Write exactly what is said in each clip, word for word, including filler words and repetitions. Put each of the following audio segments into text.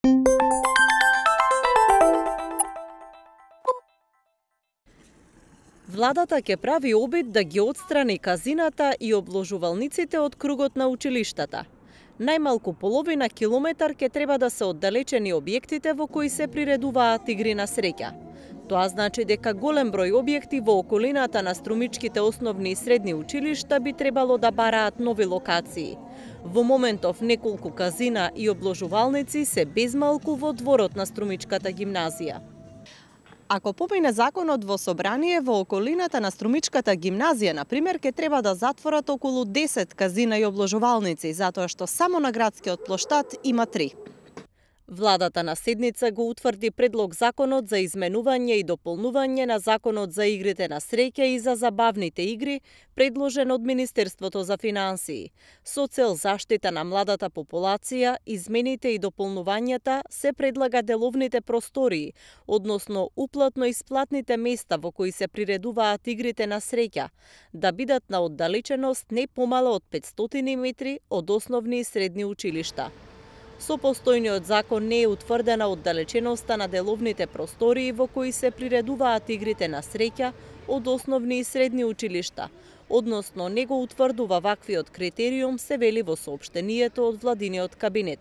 Владата ќе прави обид да ги отстрани казината и обложувалниците од кругот на училиштата. Најмалку половина километар ќе треба да се оддалечени објектите во кои се приредуваат игри на среќа. Тоа значи дека голем број објекти во околината на струмичките основни и средни училишта би требало да бараат нови локации. Во моментов неколку казина и обложувалници се безмалку во дворот на Струмичката гимназија. Ако помине законот во собрание, во околината на Струмичката гимназија, например, ќе треба да затворат околу десет казина и обложувалници, затоа што само на градскиот плоштад има три. Владата на седница го утврди предлог законот за изменување и дополнување на законот за игрите на среќа и за забавните игри, предложен од Министерството за финансии. Со цел заштита на младата популација, измените и дополнувањата се предлага деловните простории, односно уплатно-исплатните места во кои се приредуваат игрите на среќа, да бидат на оддалеченост не помала од петстотини метри од основни и средни училишта. Со постојниот закон не е утврдена оддалеченоста на деловните простории во кои се приредуваат игрите на среќа од основни и средни училишта, односно не го утврдува ваквиот критериум, се вели во соопштението од владиниот кабинет.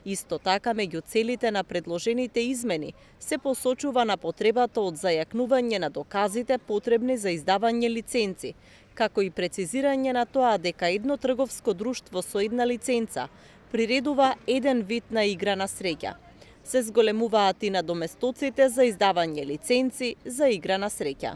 Исто така, меѓу целите на предложените измени се посочува на потребата од зајакнување на доказите потребни за издавање лиценци, како и прецизирање на тоа дека едно трговско друштво со една лиценца приредува еден вид на игра на среќа. Се зголемуваат и надоместоците за издавање лиценци за игра на среќа.